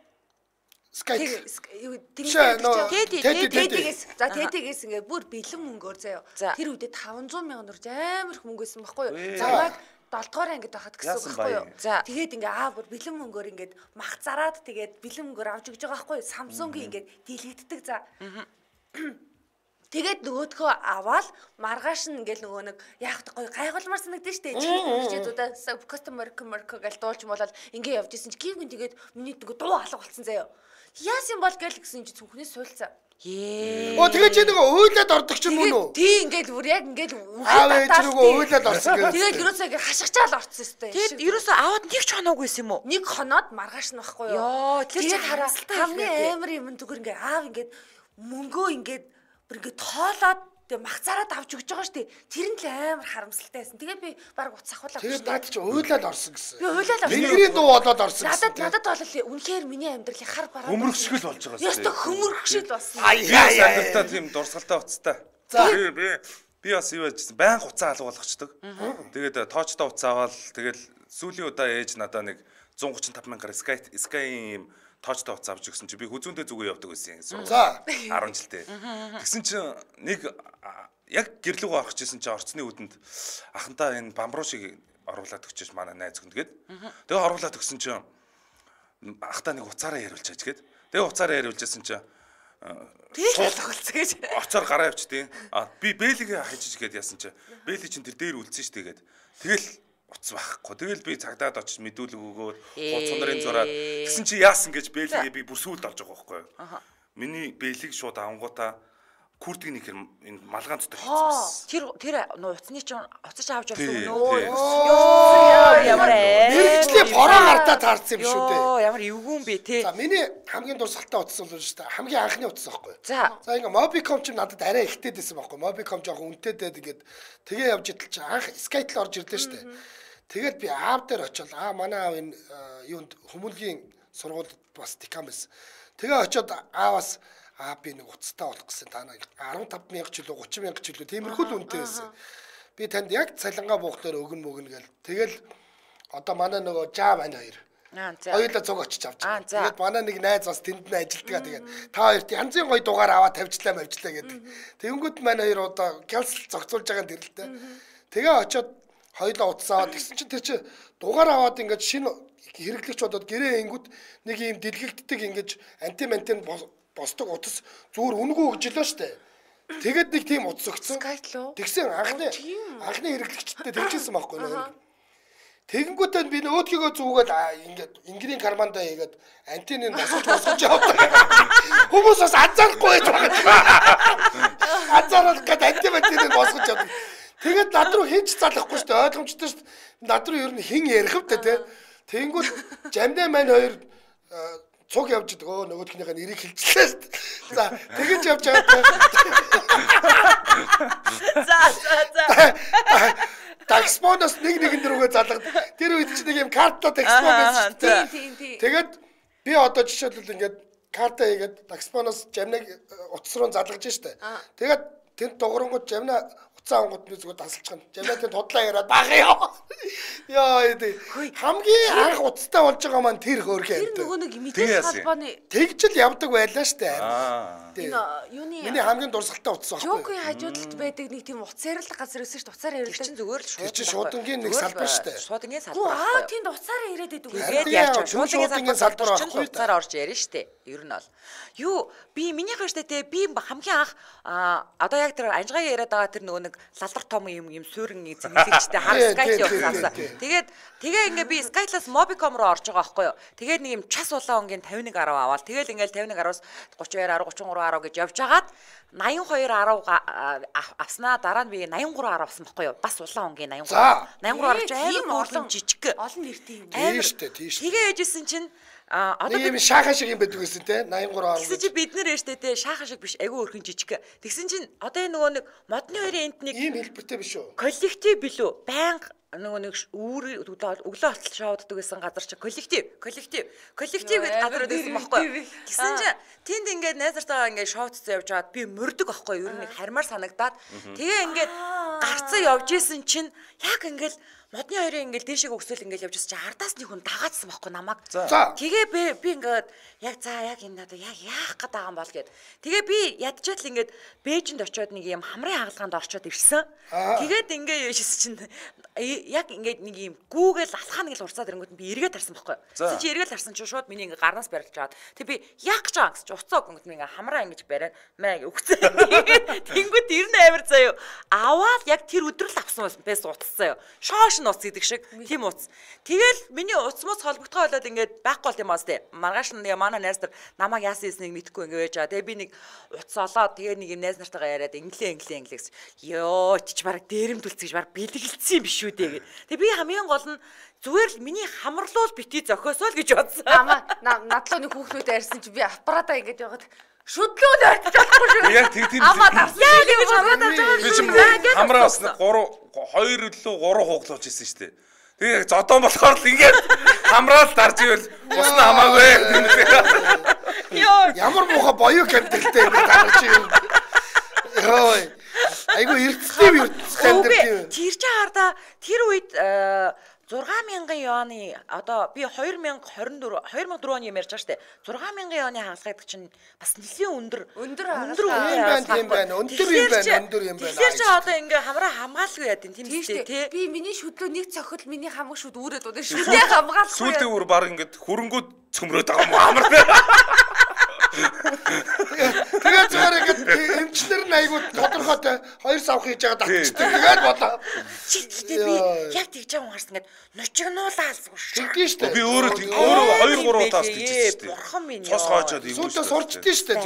Тэдгээс ингээ бүр бэлэн мөнгөөр заяа. Тэр үедээ 500 мянган төгрөг амар их мөнгө байсан байхгүй юу? Замаг 7 дугаар ангид байхад гэсэн үг байхгүй юу? Тэгээд ингээ бүр бэлэн мөнгөөр ингээд мах зараад тэгээд бэлэн мөнгөөр авч өгч байгаа байхгүй юу? Samsung-ийн ингээд дийлэгддэг за. Тэгээд нөгөөдхөө аваад маргааш нь ингээл нөгөө нэг яах гоё гайхалмар санагдсан шүү дээ. Чи үзэдүүдээ customer гэл дуулж болол ингээ явж исэн чи гівгэн тэгээд миний нөгөө дуу алга болцсон заяа. Яасан бол гэл гэсэн чи зүнхнээс суйлцаа. Оо тэгээд чи нөгөө уйлаад ордог ч юм уу? Тий ингээл бүр яг ингээл аав ээж нөгөө уйлаад орсон гэх. Тэгээд ерөөсөө ингээ хашгичаал орцсон өстэй. Тэгээд ерөөсөө аваад нэг ч хоноогүй юм уу? Нэг хоноод маргааш нь байхгүй юу? Йоо тэр чи хамгийн амар юм зүгээр ингээ аав ингээд мөнгөө ингээд ингээ тоолоод тэгээ мах зараад авч өгч байгаа штэ. Тэр нь л амар харамсалтай байсан. Тэгээ би баг утас ахуулаад тэгээд наад чи уйлаад орсон гэсэн. Би уйлаад орсон. Тэнгэрийн дуу болоод орсон гэсэн. Надад бол үнэхээр миний амьдралын хар бараа. Хөмөргшгөл болж байгаа. Яста хөмөргшгөл болсон. Аяа тийм дурсгалтай утастай. Би бас юу яжсэн баян хуцаа алга болгочдөг. Тэгээд тоочтой утас аваад тэгэл сүүлийн удаа ээж надаа нэг 135,000-аар Sky-ийн юм тоочтой утас авч өгсөн чи би хүзүүндээ зүгөө явдаг байсан юм. За 10 жилдээ. Тэгсэн чи нэг яг гэрлүүгөө орох гэсэн чи орцны үдэнд ахантаа энэ бамбруу шиг оруулаад өгчөөш манай найз хүн тэгээд. Тэгээ оруулаад өгсөн чи ахтаа нэг уцаараа яриулчаач гээд. Тэгээ уцаараа яриулжсэн чинь шууд тоглоцсон гэж. Оцоор гараа явчихдээ. Би Бэлигээ хажиж гээд яасан чинь Бэли чинь тэр дээр үлдсэн шүү тэгээд. Тэгэл утас байхгүй. Тэгэл би цагдаад очиж мэдүүлэг өгөөд хуцсан нарын зураад тэгсэн чи яасан гэж Бэлигээ би бүр сүулт олж байгаа байхгүй юу. Миний Бэлиг шууд авангуудаа күрдэг нэг энэ малгаан дотор хийсэн. Тэр уцны чинь уцаж авч явсан нөө. Йоо ямар мэрэгчлээ бороо гартаа таарсан юм шүү дээ. Йоо ямар эвгүүн бэ те. За миний хамгийн дурсгалтай утас бол шүү дээ. Хамгийн анхны утас байхгүй. За ингээ Mobicom ч надад арай ихтэй дэсэн байхгүй. Mobicom жоохон үнэтэй дээд ингээд тэгээ явж идэл чи анх Skytel орж ирлээ шүү дээ. Тэгээд би аав дээр очил манай аав энэ юунд хүмүүнлэгийн сургуульд бас декан байсан. Тэгээ очиод ааваас би нэг уцтай болох гэсэн та нар 15,000 ч үлээ 30,000 ч үлээ тиймэрхүү л үнэтэй байсан. Би танд яг цалингаа буухлаар өгнө мөгнө гэл. Тэгэл одоо манай нөгөө жаа байна хоёр. Хоёулаа цуг очиж авч байгаа. Тэгээд манай нэг найз бас тэнд нь ажилтгаа тэгээд та хоёрт янзын гоё дугаар аваад тавьчлаа гэдэг. Тэнгүүд маань хоёр одоо кэнсел зогцуулж байгаа юм тэрэлтэй. Тэгээ очиод хоёулаа утсаа аваад тэгсэн чинь тэр чи дугаар аваад ингээд шинэ хэрэглэгч бодоод гэрээ ингүүд нэг юм дэлгэгддэг ингэж антимантен босдог утас зүгээр үнгүү өгжлөө штэ. Тэгээд нэг тийм утас өгсөн. Тэгсэн анхны хэрэглэгчтэй тэгжсэн байхгүй юу? Тэгэнгүүтээ би өөдгийгөө зүгээд ингээд ингийн кармандаа хийгээд антеныг босгож явдаг. Хүмүүс бас анзаарахгүй байдаг. Анзаарах гэдэг антимантеныг босгож явдаг. Тэгээд над руу хинч залахгүй штэ ойлгомжтой штэ. Над руу ер нь хин ярих вэ те. Тэнгүүд жамдаа маань хоёр цуг явж байгаа нөгөөдхнийхээ нэрийг хэлчихлээ шүү дээ. За тэгэж явж байгаа. За. Такспоноос нэгэн дөрөвгөө залгад. Тэр үед чи нэг юм картаа такспон байсан шүү дээ. Тэгээд би одоо жишээлбэл ингээд карта хийгээд такспоноос жамнаг утас руу залгаж штэ. Тэгээд тэнд дугрангууд жамна уцаа ангууд би зүгээр дасалчихна. Жамнаа тэнд худлаа яриад багъя. Яа хамгийн анх уцтай болж байгаа маань тэр хөөрхөн. Тэр нөгөө нэг мэдээж холбооны тэгжл явдаг байлаа штэ. Энэ юуны миний хамгийн дурсгалтай утас байхгүй. Жокийн хажуудалд байдаг нэг тийм уцаар л газар өссөн штэ. Уцаар яриулдаг. Чинь зүгээр л шууд. Тэр шуудангийн нэг салбар штэ. Шуудангийн салбар. Тэнд уцаараа ирээд идэв. Тэгээд яаж шуудангийн салбар чинь уцаараа орж ярина штэ. Ер нь бол. Юу би минийх штэ те би хамгийн анх одоо яг тэр анжгаан яриад байгаа тэр нөгөө нэг лалдар том юм суурин зэмлэгчтэй хар Skytel явуулсан. Тэгээ ингээ би Skytel-аас Mobicom руу орж байгаа байхгүй юу. Тэгээд нэг юм час улаан өнгийн 5110 аваад тэгэл ингээл 5110-аас 3210 3310 гэж явж хагаад 8210 авснаа дараа нь би 8310 авсан байхгүй юу. Бас улаан өнгийн 8310 амар олон жижиг олон нэртэй юм. Тийм штэ тийм штэ. Тэгээ яжсэн чинь одоо би шаахан шиг юм байдаг гэсэн те 8310. Тэгсэн чи бид нэр штэ те шаахан шиг биш айгүй өрхөн жижиг. Тэгсэн чинь одоо энэ нөгөө нэг модны хоёрын энд нэг ийм хэлбэртэй биш үү? Коллектив билүү? Банк нөгөө нэг өглөө болтол шоуддаг гэсэн газар чи коллектив гэдэг газар байсан байхгүй. Тэгсэн чи тэнд ингээд найзартайгаа ингээд шоуцсан явж байгаад би мөрдөг байхгүй юу? Ер нь хармаар санагдаад тэгээ ингээд гарцаа явж исэн чинь яг ингээд модны хоёрын ингээл дээшээ өгсөөл ингээл явж байгаа чи ардаас нэг хүн дагаадсан байхгүй намайг. Тэгээ би ингээд яг энэ надад яг яах гээд байгаа юм бол гэд. Тэгээ би ядчаал ингээд Бээжинд очиод нэг юм хамрын хаалгаанд орчоод ирсэн. Тэгээд ингээ яшсэн чинь яг ингээд нэг юм гүүгээл алхаа нэг л урцаад ирэнгүүт би эргээд харсан байхгүй. Тэгсэн чи эргээд харсан чи шууд миний ингээ гарнаас барилж аваад тэг би яах гэж байгаа гэсэн чи уцаа өгөнгөт ингээ хамраа ингэж бариад маа өгцөө. Тэнгүүд ер нь амар заяа. Аваад яг тэр өдрөл авсан байсан утас заяа. Шоош уц гэдэг шиг тийм уц. Тэгэл миний уцмус холбогдгоо болоод ингээд байхгүй бол юм аа сте. Маргааш нь манай найз нар намайг яасан юмыг мэдэхгүй ингээд байж байгаа. Тэгээ би нэг уц олоод тэгээ нэг юм найз нартайгаа яриад инглээ гэсэн. Йоо ч баг дээрэмдүүлц гэж баг бэлгэлцсэн юм биш үү дээ. Тэгээ би хамгийн гол нь зүгээр л миний хамарлуул бити зохиосоо л гэж бодсон. Надлуу нэг хүүхнүүд ярьсан чи би аппаратаа ингээд яваад шүдлүүд ойртож болохгүй шүү. Яг тийм. Амаа дарсан. Яг ингэж хамраад авч байгаа. Би ч хамраас 2 лөө 3 хууглуулж ирсэн шүү дээ. Тэгээ зодон болохоор л ингээд хамраал дарж ивэл усна хамаагүй. Йоо ямар муухай боёо кэмтэлтэй юм дарж юм. Йоо айгу эрдэстэй тэр чи хараа тэр үед 60000 юаны одоо би 2024 оны юм ярьж байгаа штэ 60000 юаны хаалга гэдэг чинь бас нэлийн өндөр юм байна. Өндөр юм байна. Тэгэхээр чи одоо ингээ хамраа хамгаалгүй яа тийм үү те. Би миний шүдлөө нэг цохол миний хамаг шүд үүрээд удаа шүдээ хамгаалахгүй. Сүүлдээ бүр баг ингээд хөрөнгөд цөмрөөд байгаа юм амар. Тэгээд зүгээр ингээд эмчнэр нь айгуу тодорхойтой 2 сав хийж байгаа татчихдаг. Тэгээд бодоо. Би яг тэгж байгаа юм харсан ингээд ночигнуулаа алсгүй шүү. Тэгдэж штэ. Би өөрөө 2-3 таас тэгчихсэн штэ. Бурхан минь. Цус хаажаад ийм. Сүүлдээ сурчдээ штэ.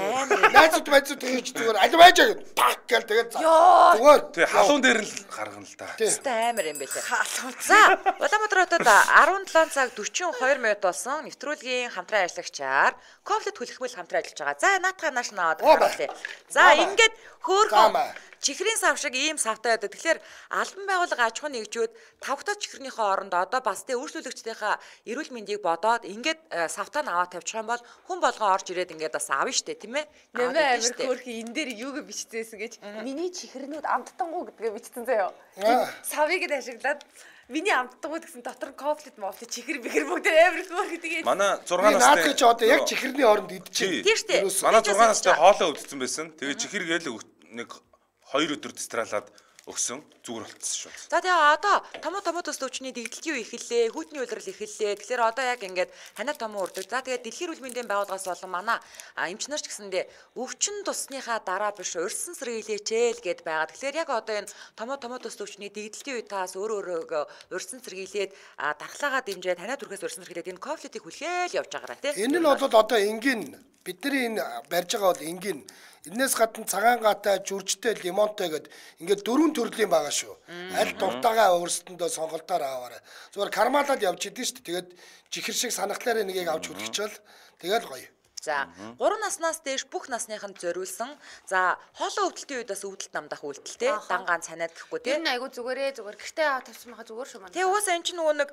Найзууд байцууд хийж зүгээр аль байжаа гэд пак гэл тэгээд зүгээр. Тэгээ халуун дээр л гаргана л да. Тэстэй амар юм байлаа. За, Улаанбаатар хотод 17 цаг 42 минут болсон нэвтрүүлгийн хамтран ажиллагчаар Ковлет хүлхмэл хамтран ажиллаж байгаа. За, наатаха нааш наваад харуулъя. За, ингээд хөөхөн чихрийн сав шиг ийм савтай байдаг. Тэгэхээр албан байгууллага аж ахуй нэгжүүд тавхтаа чихрийнхээ оронд одоо бас тэ үйлчлүүлэгчдийнхээ эрүүл мэндийг бодоод ингээд савтаа аваад тавьчих юм бол хүн болгоо орж ирээд ингээд бас авна штэ тийм ээ. Нэмээ амир хөөрхи энэ дээр юуг биччихсэн гэж миний чихрэнүүд амттангуу гэдгээ бичсэн заяа. Савыг ашиглаад миний амттангууд гэсэн дотор кофлет мофлет чихэр бихэр бүгд амир хөөрхи тэгээд манай 6 настай чи одоо яг чихэрний оронд идчихэ. Тийм штэ. Манай 6 настай хоолоо өвдсөн байсан. Тэгээ чихэр гээл нэг 2 өдөр дистралаад өгсөн зүгээр болцсон шүү. За тэгээ одоо томоос төвчний дэгдэлтийн үе эхэллээ, хүүтний улирал эхэллээ. Тэгэхээр одоо яг ингээд ханаа томоо урдаг. За тэгээ дэлхийн эрүүл мэндийн байгууллагаас болон манай эмч нар ч гэсэндээ өвчин тусныхаа дараа биш урьдсан сэргийлээч л гэд байгаа. Тэгэхээр яг одоо энэ томоос төвчний дэгдэлтийн үе таас өөрөө урьдсан сэргийлээд дархлаагаа дэмжээд ханаа түрхээс урьдсан сэргийлээд энэ кофлетийг хүлээл явж байгаараа тийм. Энэ нь бол одоо энгийн бидний энэ барьж байгаа бол энгийн энээс гадна цагаан гаатай, жүржтэй, лимонтой гэд ингээд 4 төрлийн байгаа шүү. Аль дуртайгаа өөрсдөндөө сонголтоор аваарай. Зүгээр кармалаад явж идэв шүү. Тэгээд чихэр шиг санахлаараа нэгийг авч хүлчихвэл тэгэл гоё. За 3 наснаас дээш бүх насныханд зориулсан. За хоолой өвдөлтийн үед бас өвдөлт намдах үйлдэлтэй дангаан цанаад гэхгүй тийм. Энэ айгу зүгээр гэртээ аваад тавьсан байгаа зүгээр шүү манай. Тэгээ уусаа эн чинь нөгөө нэг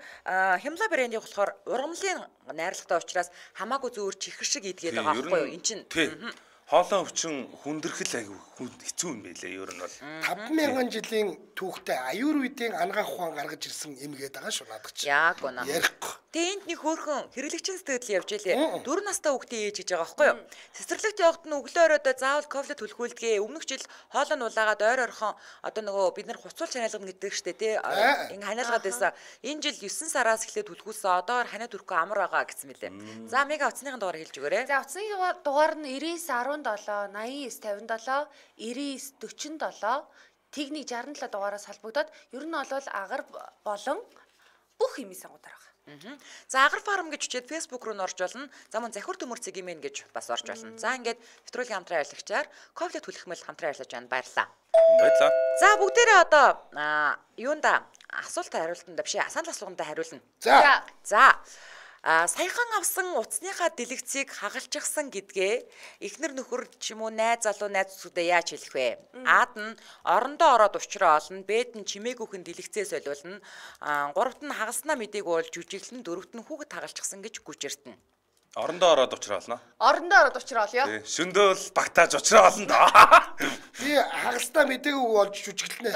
Хямла брэндийн болохоор ургамлын найрлагатай учраас хамаагүй зүгээр чихэр шиг идгээд байгаа байхгүй юу? Эн чинь хоолой өвчин хүндэрхэл айгүй хэцүү юм байлээ ер нь бол 5000 жилийн түүхтэй аюурвидын ангаах ухаан гаргаж ирсэн юм гээд байгаа шүү надад чи. Яг гоо. Ярихгүй. Тэгээ энд нэг хөөрхөн хэрэглэгчийн сэтгэл явж илээ. 4 настай хүүхдээ ээж гэж байгаа байхгүй юу? Цэцэрлэгт явахад нь өглөө оройдоо заавал кофлет түлхүүлдэгэ. Өмнөх жил хоолой нь улаагаад ойр орхон одоо нөгөө бид нар хуцуул ханиалгана гэдэг штэ тий. Ингээ ханиалгаад байсан. Энэ жил 9 сараас эхлээд түлхүүлсэн. Одоо ханаа төрхгүй амар байгаа гэсэн мэлээ. За мега утасныхын дугаар хэлж өгөөрэй. За утасны дугаар нь 99 17 89 57 99 47 техник 67 дугаараас холбогдоод ер нь бол агар болон бүх хэмээ сангуудаар байгаа. За агар фарм гэж үчээд Facebook руу н орж болно. За мөн захир төмөрцөг имэн гэж бас орж болно. За ингээд нэвтрүүлгийн хамтран ажиллагчаар кофлет хүлхмэл хамтран ажиллаж байна. Баярлалаа. Баярлалаа. За бүгдээрээ одоо юунда асуултад хариултанд биш асаан асуулганд хариулна. За саяхан авсан утасныхаа дэлгэцийг хагалчихсан гэдгээ эхнэр нөхөр ч юм уу найз залуу найзуудаа яаж хэлэх вэ? Аад нь орондоо ороод учраа олно, бэд нь чимээгүйхэн дэлгэцээ солиулна, гуравт нь хагалснаа мдийг уулж жүжиглэн, дөрөвт нь хүүхэд хагалчихсан гэж гүжиртэн. Орондоо ороод учраа олно. Орондоо ороод учраа олё. Шөндөө л багтааж учраа олно доо. Би хагалснаа мдээгүй болж жүжиглэнэ.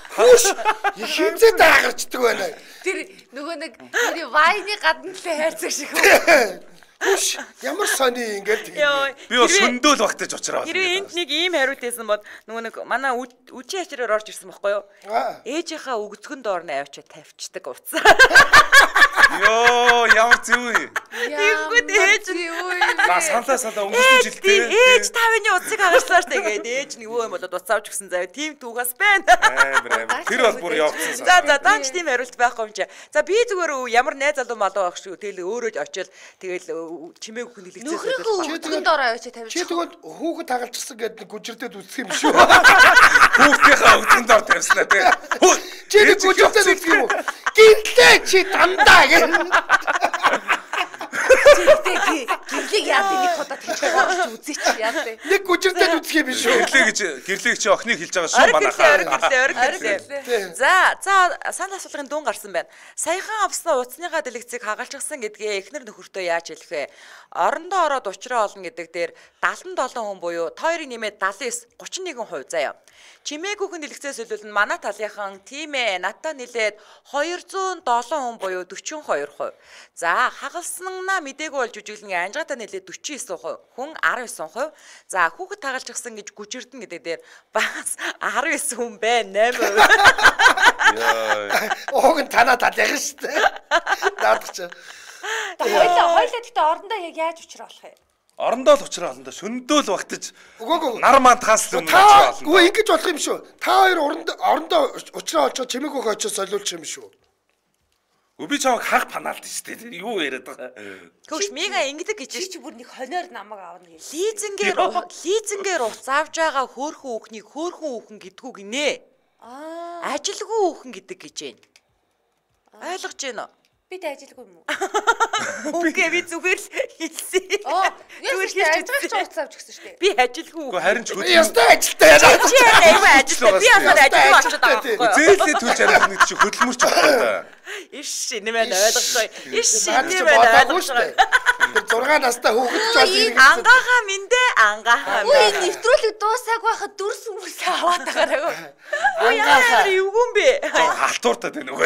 Хөөш хинцээ даагарчдаг байна. Тэр нөгөө нэг тэр вайны гадна л хайрцаг шиг. Хүш ямар сони ингээд би шөндөө л багтааж учраа олно. Хэрвээ энд нэг ийм хариулт байсан бол нөгөө нэг манай үчи ачраар орж ирсэн байхгүй юу? Ээжийнхаа өгцгөн доор нь авчиад тавьчихдаг уцаа. Йоо ямар зүй. Тэгэнгүүт ээж саналаа өнгөрсөн жилдээ ээж тавны уцыг хагалслаа штэ гээд ээж нэг өө юм болоод уц авч өгсөн заяа тийм түүгээс байна. Тэр бол бүр явцсан. За даанч тийм хариулт байхгүй юм чи. За би зүгээр ямар найз залуу малуу байх шүү. Тэгэл өөрөө очил тэгэл чимээг хүн хэлэгцээ. Нөхрийнхөө өгцгөн доор авчиад тавьчих. Чи тэгвэл хүүхэд хагалчихсан гэдэг гүжирдээд үсэх юм шүү. Хүүхдийнхээ өгцгөн доор тавьснаа тий. Чи нэг гүжирдээд үсэх юм уу? Гинлээ чи дандаа гэ. Гэрлэг яа нэг удаа тэгж үзээч яа бэ? Нэг гүжирдээд үсэх юм шүү. Гэрлэг чи охиныг хэлж байгаа шүү манайхаа. За санал асуулгын дуун гарсан байна. Саяхан авсан утасныхаа дэлгэцийг хагалчихсан гэдгээ эхнэр нөхөртөө яаж хэлэх вэ? орондоо ороод учраа олно гэдэг дээр 77 хүн буюу та хоёрыг нэмээд 79 31% заяа. Чимээгүйхэн дэлгэцээс өлвөл манай талынхан тийм ээ надтай нэлээд 207 хүн буюу 42%. За хагалснаа мдээгүй болж үжиглэн анжаатай нэлээд 49%, хүн 19%. За хүүхэд тагалж гисэн гэж гүжирдэн гэдэг дээр бас 19 хүн байна 8%. Ууг нь танаа тал яг шүү дээ. Наадах чи. Хоёлаа гэхдээ орондоо яг яаж учраа болох юм? Орондоо л учраа олно да. Шөнөдөө л багтаж. Үгүй нар маань таслаа юм учраа олно. Үгүй ингэж болох юм шүү. Та хоёр орондоо учраа олчоо чимээгүйх очоо солиулчих юм шүү. Би чамайг хаг панаалт шүү дээ. Юу яриад байгаа. Хөөш мега ингэдэг гэж чи бүр нэг хоноор намайг аавна гэж. Лизингээр уц авч байгаа хөөхөн хүүхнийг хөөхөн хүүхэн гэдгүү гинэ. Ажилгүй хүүхэн гэдэг гэж байна. Ойлгож байна уу? Би тэ ажилгүй юм уу? Үгүй би зүгээр л хэлсэн. Зүгээр хийж ажиллаж уц авч гисэн шүү дээ. Би ажилгүй. Үгүй харин ч Ястай ажилтай яа. Чи аягүй ажилтай. Би ясаар ажилгүй очоод байгаа байхгүй юу? Зээлээ төлж арих нэг чи хөдөлмөрч байгаа да. Иш нэмээд ойлгохгүй. Иш нэмээд ойлгохгүй. 6 настай хүүхэд ч бас ирэх. Ангахаа миндэ ангахаа. Үгүй нэвтрүүлэг дуусаагүй байхад дүрс хүмүүс аваад байгаараа. Яа юугүн бэ? Халтууртаа тань үгүй.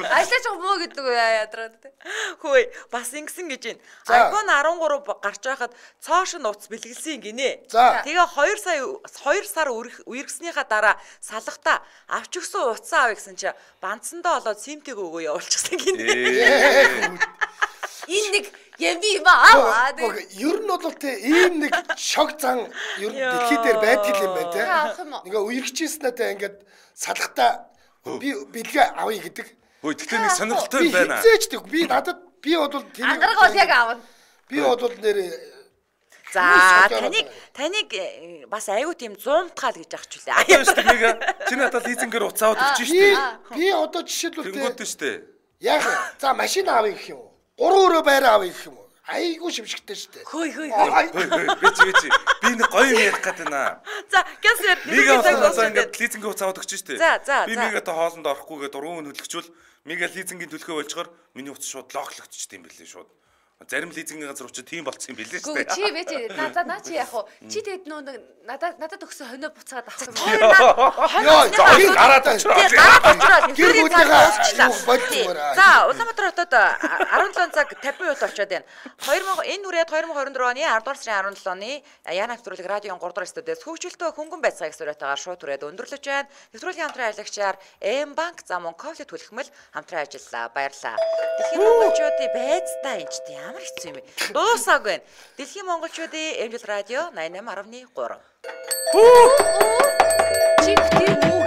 Ажлаач муу гэдэг үү ядраад те. Хөөе бас ингэсэн гэж байна. iPhone 13 гарч байхад цоош нь утас бэлгэлсэн гинэ. Тэгээ 2 сар үерхснийхаа дараа салхтаа авч өгсөн утсаа авъя гэсэн чи бандсандаа болоод симтэг өгөө явуулчихсан гинэ. Энэ нэг яви маа. Ер нь бол те ийм нэг шог зан ер нь дэлхий дээр байдаг юм байна те. Ингээ үерхчихсэн надаа ингээд салхтаа би бэлгээ авъя гэдэг. Хөөе тэгтээ нэг сонирхолтой байна. Би надад би бол тэр ангараг бол яг аавна. Би бол нэр за таныг бас аягүй тийм 100 таал гэж ах ч үлээ. Одоо шүү дээ нэг чи надад лизингээр уцаад өгч штэ. Би одоо жишээлбэл тэнгууд штэ. Яг за машин авъя гэх юм уу? 3 өрөө байраа авъя гэх юм уу? Айгуу шимшигтэй штэ. Хөөе. Би нэг гоё юм ярих гэдэг наа. За гэсээр ингээд лизингийн уцаад өгч штэ. Би За. мигатай хоолнд орохгүйгээ дургуун хөдөлгчүүл мига лизингийн төлхөө болчгоор миний утас шууд локлогдчихд юм бэлээ шууд. Зарим лизингийн газар учраас тийм болцсон юм бэлээ шүү дээ. Чи вэ чи наа чи яах вэ? Чи тэгэд нөө надад өгсөн хоноо буцаад авах юм. Йоо, зогийг гараад очроо. Гэр бүлийнхээ болчихмоор. За, Улаанбаатар хотод 17 цаг 50 минут болчиход байна. Энэ үрээд 2024 оны 10 дугаар сарын 17 оны Яна нэвтрүүлэг радион 3 дугаар студиэс хөгжөлтөө хөнгөн байцаагаас сураатаагаар шууд түрээд өндөрлөж байна. Нэвтрүүлгийн хамтран ажиллагчаар M-банк зам Монковлит түлхмэл хамтран ажиллаа. Баярлалаа. Дэлхийн монголчуудын байцтай энэ ч ямар хэцүү юм бэ? Дуусаагүй байна. Дэлхийн монголчуудын Эмжил радио 88.3. Чи битгий муу.